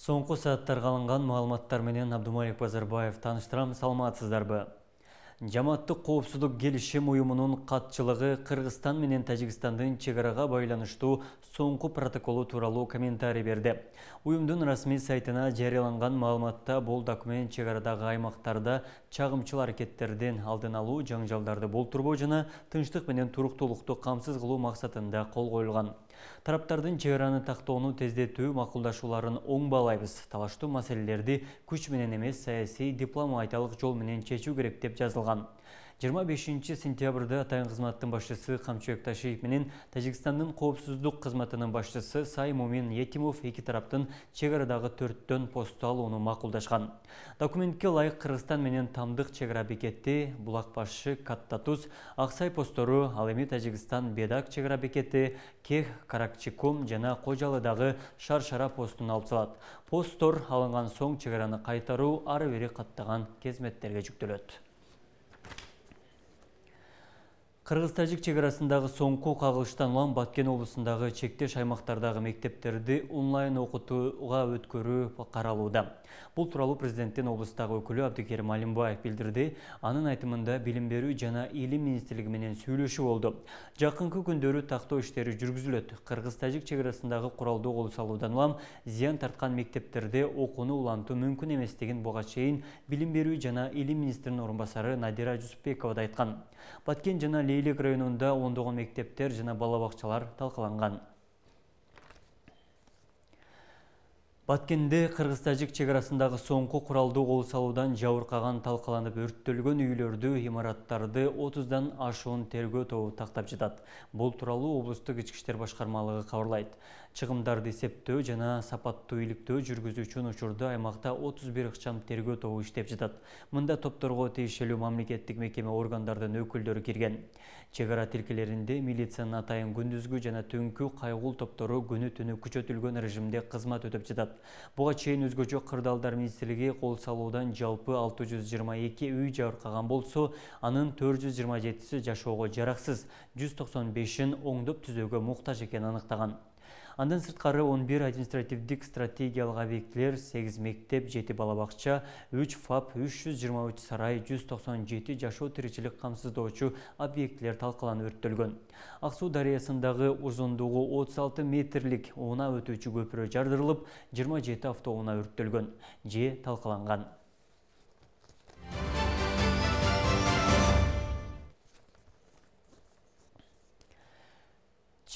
Соңку сааттарга алынган маалыматтар менен Абдумалик Базарбаев тааныштырам. Саламатсыздарбы? Жамааттык коопсуздук келишим уюмунун катчылыгы Кыргызстан менен Тажикстандын чегарага байланыштуу соңку протоколу тууралуу комментарий берди. Уюмдун расмий сайтына жарыяланган маалыматта бул документ чегарадагы аймактарда чагымчыл аракеттердин алдын алуу, жаңжалдарды болтурбоо жана тынчтык менен туруктуулукту камсыз кылуу максатында кол коюлган. Тараптардын чегараны тактоону тездетүү макулдашууларын оң баалайбыз. Талаштуу маселелерди күч менен эмес, саясий, дипломатиялык жол менен чечүү керек деп жазылган. 25 сентябрда атайын кызматтын башчысы Камчыбек Ташиев менен Тажикстандын коопсуздук кызматынын башчысы Сай Мумин Етимов эки тараптын чегарадагы 4 постту алууну макулдашкан. Документке ылайык Кыргызстан менен Тамдык чегара бекети, Булак башы, Катта Туз, Аксай постору, ал эми Тажикстан Бедак чегара бекети, Кех, Каракчикум жана Кожалыдагы Шаршара постун алып салат. Посттор алынган соң чегараны кайтаруу ары бери каттаган кезметтерге жүктөлөт. Кыргыз-Тажик чегарасындагы соңку кагылыштан улам Баткен облусундагы чектеш аймактардагы мектептерди онлайн окутууга өткөрүү каралууда. Бул тууралуу президенттин облустагы өкүлү Абдыкерим Алимбаев билдирди. Анын айтымында билим берүү жана илим министрлиги менен сүйлөшүү болду. Жакынкы күндөрү тактоо иштери жүргүзүлөт. Кыргыз-Тажик чегарасындагы куралдуу кол салуудан улам зыян тарткан мектептерде окууну улантуу мүмкүн эместигин буга чейин билим берүү жана илим министринин орун басары Надира Жусупбекова да айткан. Баткен жана Лейлик районунда ондогон мектептер жана бала бакчалар талкаланган. Баткенде Кыргыз-Тажик чегарасындагы соңку куралдуу кол салуудан жабыркаган, талкаланып өрттөлгөн үйлөрдү, имараттарды 30дан ашуун тергөө тобу тактап жатат. Бул тууралуу облустук ички иштер башкармалыгы кабарлайт. Чыгымдарды эсептөө жана сапаттуу иликтөө жүргүзүү үчүн учурда аймакта 31 ыкчам тергөө тобу иштеп жатат. Мында топторго тиешелүү мамлекеттик мекеме органдардын өкүлдөрү кирген. Чегара тилкелеринде милициянын атайын күндүзгү жана түнкү кайгул топтору күнү-түнү күчөтүлгөн режимде кызмат өтөп жатат. Буга чейин өзгөчө кырдаалдар министрлиги кол салуудан жалпы 622 үй жабыркаган болсо, анын 427си жашоого жараксыз, 195-ин оңдоп түзөөгө муктаж экенин аныктаган. Андан сырткары 11 административдик стратегиялык объектилер, 8 мектеп, 7 бала бакча, 3 ФАП, 323 сарай, 197 жашоо тиричилик камсыздоочу объектилер талкаланып өрттөлгөн. Ак Суу дарыясындагы узундугу 36 метрлик унаа өтүүчү көпүрө жардырылып, 27 автоунаа өрттөлгөн же талкаланган.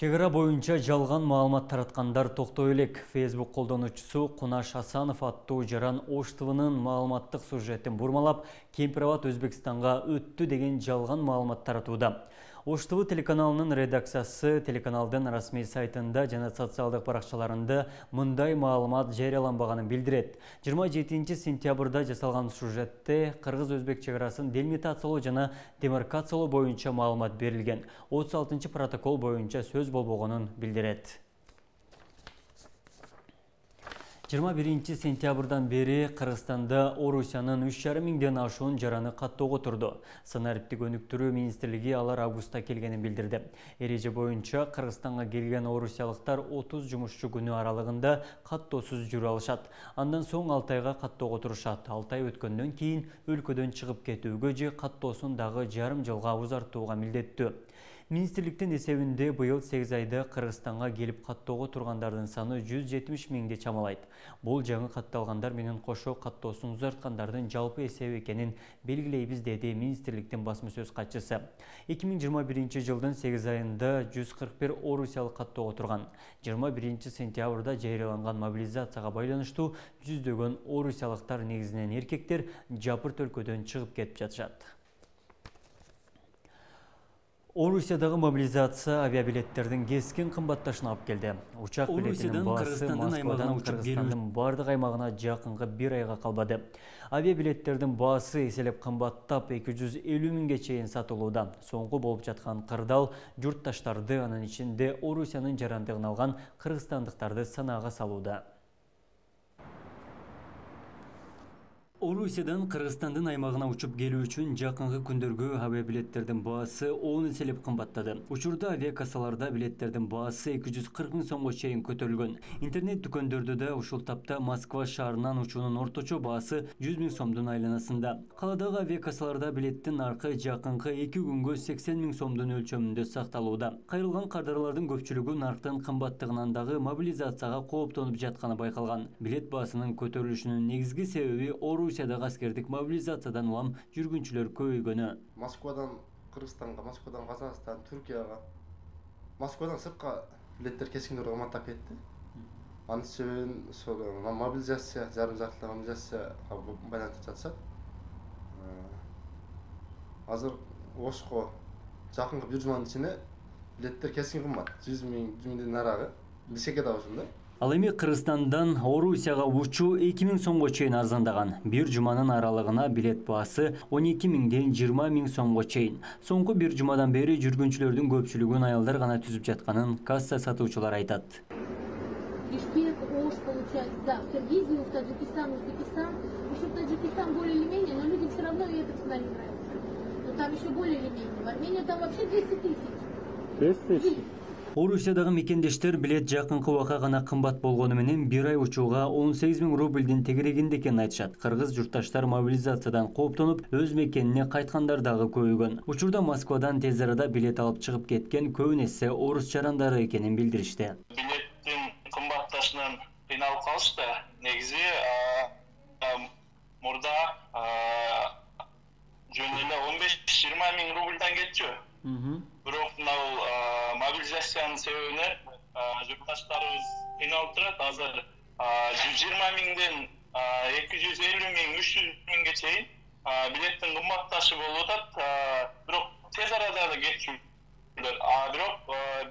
Чегара боюнча жалган маалымат тараткандар токтой элек. Facebook колдонуучусу Кунаш Асанов аттуу Жаран Ош ТВнын маалыматтык сюжетин бурмалап, Кемпир-Абад Өзбекстанга өттү деген жалган маалымат таратууда. Ош ТВ телеканалынын редакциясы телеканалдын расмий сайтында жана социалдык баракчаларында мындай маалымат жарыяланбаганын билдирет. 27 сентябрда жасалган сюжетте Кыргыз-Өзбек чегарасын делимитациялоо жана демаркациялоо боюнча маалымат берилген. 36 протокол боюнча сөз болбогонун билдирет. 21 сентябрдан бери Кыргызстанда Орусиянын 3,5 миңден ашуун жараны каттоого турду. Санариптик өнүктүрүү министрлиги алар августта келгенин билдирди. Эреже боюнча Кыргызстанга келген орусиялыктар 30 жумушчу күнү аралыгында каттоосуз жүрө алышат. Андан соң 6 айга каттоого турушат. 6 ай өткөндөн кийин өлкөдөн чыгып кетүүгө же каттоосун дагы жарым жылга узартууга милдеттүү. Министрликтин эсебинде быйыл 8 айда Кыргызстанга келип каттоого тургандардын саны 170 миңди чамалайт. Бул жаңы катталгандар менен кошо каттоосун узарткандардын жалпы эсеби экенин белгилейбиз, деди министрликтин басма сөз катчысы. 2021 жылдын 8 айында 141 орусиялык каттоого турган. 21 сентябрда жарыяланган мобилизацияга байланыштуу жүздөгөн орусиялыктар, негизинен эркектер, жапырт өлкөдөн чыгып кетип жатышат. Орусиядагы мобилизация авиабилеттердин кескин кымбатташына алып келди. Учак билетинин баасы Москвадан Кыргызстандын бардык аймагына жакынкы 1 айга калбады. Авиабилеттердин баасы эселеп кымбаттап 250 миңге чейин сатылууда. Соңку болуп жаткан кырдаал журтташтарды, анын ичинде Орусиянын жарандыгын алган кыргызстандыктарды санаага салууда. Орусиядан Кыргызстандын аймагына учуп келүү үчүн жакынкы күндөргө авиабилеттердин баасы 10 эселеп кымбаттады. Учурда авиакассаларда билеттердин баасы 240 000 сомго чейин көтөрүлгөн. Интернет дүкөндөрдө да ушул тапта Москва шаарынан учуунун орточо баасы 100 000 сомдун айланасында. Каладагы авиакассаларда билеттин наркы жакынкы 2 күнгө 80 000 сомдун өлчөмүндө сакталууда. Кайрылган кардарлардын көпчүлүгү нарктын кымбаттыгынан дагы мобилизацияга кооптонуп жатканы байкалган. Билет баасынын көтөрүлүшүнүн негизги себеби Орусиядагы аскердик мобилизациядан улам жүргүнчүлөр көбөйгөнү. Москвадан Кыргызстанга, Москвадан Казакстан, Түркияга, Москвадан сыртка билеттер кескиндүү кымбаттап кетти. Анын себебин мобилизация, жарым жартылай мобилизацияга байланыштырып жатышат. Азыр Ошко жакынкы бир жуманын ичинде билеттер кескин кымбат. 100 000 нарагы. Бишкекке да ошондой. Ал эми Кыргызстандан Орусияга учуу 2 000 сомго чейин арзандаган. Бир жуманын аралыгына билет баасы 12 000ден 20 000 сомго чейин. Соңку бир жумадан бери жүргүнчүлөрдүн көпчүлүгүн аялдар гана түзүп жатканын касса сатуучулар айтат. Бишкек, Ош, получается, да, в Киргизию, в Таджикистан, Узбекистан. Еще в Таджикистан более или менее, но людям все равно эта цена не нравится. Но там еще более или менее. В Армении там вообще 200 000. 200 000? Орусиядагы мекендештер билет жакынкы убакка гана кымбат болгону менен бир ай учууга 18 000 рубльдин тегерегинде экенин айтышат. Кыргыз журтташтар мобилизациядан кооптонуп, өз мекенине кайткандар дагы көбөйгөн. Учурда Москвадан тез арада билет алып чыгып кеткен көбүн эсе орус жарандары экенин билдиришти. Билеттин кымбатташынан кыйналып калышты. Негизи мурда жөн эле 15-20 000 рубльдан кетчү. Бирок мына мобилизациянын себебинен журтташтарыбыз кыйналып турат. Азыр 120 000ден 250 000, 300 000ге чейин билеттин кымбатташы болуп атат. Бирок тез арада да кетчүлөр. Бирок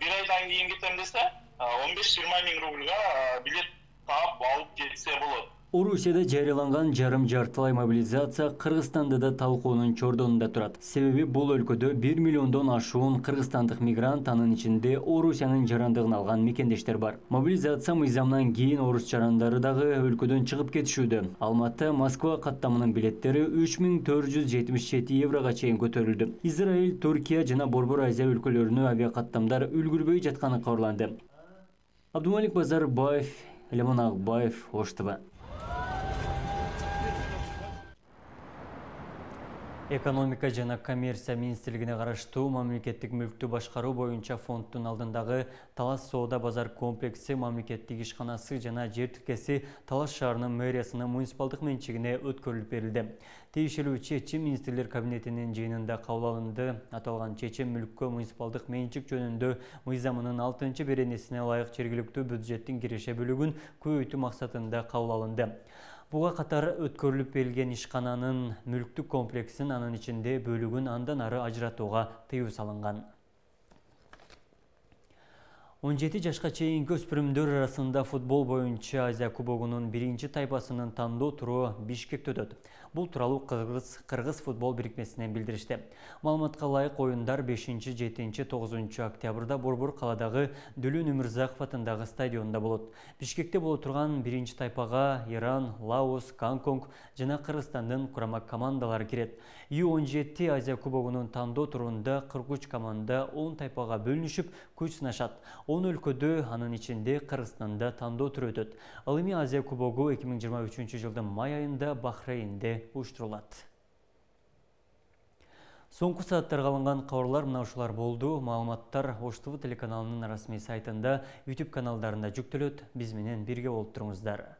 бир айдан кийин кетем десе 15-20 000 рубльга билет таап алып кетсе болот. Орусияда жарыяланган жарым жартылай мобилизация Кыргызстанда да талкуунун чордонунда турат. Себеби бул өлкөдө 1 миллиондон ашуун кыргызстандык мигрант, анын ичинде Орусиянын жарандыгын алган мекендештер бар. Мобилизация мыйзамынан кийин орус жарандары дагы өлкөдөн чыгып кетишүүдө. Алматы Москва каттамынын билеттери 3477 еврого чейин көтөрүлдү. Израиль, Түркия жана Борбор Азия өлкөлөрүнө авиакаттамдар үлгүрбөй жатканы кабарланды. Абдумалик Базарбаев, Лемон Акбаев, Ош ТВ. Экономика жана коммерция министрлигине караштуу мамлекеттик мүлктү башкаруу боюнча фонддун алдындагы Талас соода базар комплекси мамлекеттик ишканасы жана жер тиркеси Талас шаарынын мэриясынын муниципалдык менчигине өткөрүлүп берилди. Тиешелүү чечим министрлер кабинетинин жыйынында кабыл алынды. Аталган чечим мүлккө муниципалдык менчик жөнүндө мыйзамынын 6-беренесине ылайык жергиликтүү бюджеттин киреше бөлүгүн көбөйтүү максатында кабыл алынды. Буга катар өткөрүлүп берилген ишкананын мүлктүк комплексин, анын ичинде бөлүгүн андан ары ажыратууга тыюу салынган. 17 жашка чейинки өспүрүмдөр арасында футбол боюнча Азия кубогунун биринчи тайпасынын тандоо туру Бишкекте өтөт. Бул тууралуу Кыргыз футбол бирикмесинен билдиришти. Маалыматка ылайык оюндар 5-7-9 октябрда Борбор каладагы Дүлүн Өмүрзаков атындагы стадиондо болот. Бишкекте боло турган биринчи тайпага Иран, Лаос, Гонконг жана Кыргызстандын курама командалары кирет. Ю-17 Азия кубогунун тандоо турунда 43 команда 10 тайпага бөлүнүшүп күч сынашат. 10 өлкөдө, анын ичинде Кыргызстанда тандоо туру өтөт. Ал эми Азия кубогу 2023 жылдын май айында Бахрейнде уюштурулат. Соңку сааттарга алынган кабарлар мына ушулар болду. Маалыматтар Ош ТВ телеканалынын расмий сайтында, YouTube каналдарында жүктөлөт. Биз менен бирге болуп туруңуздар.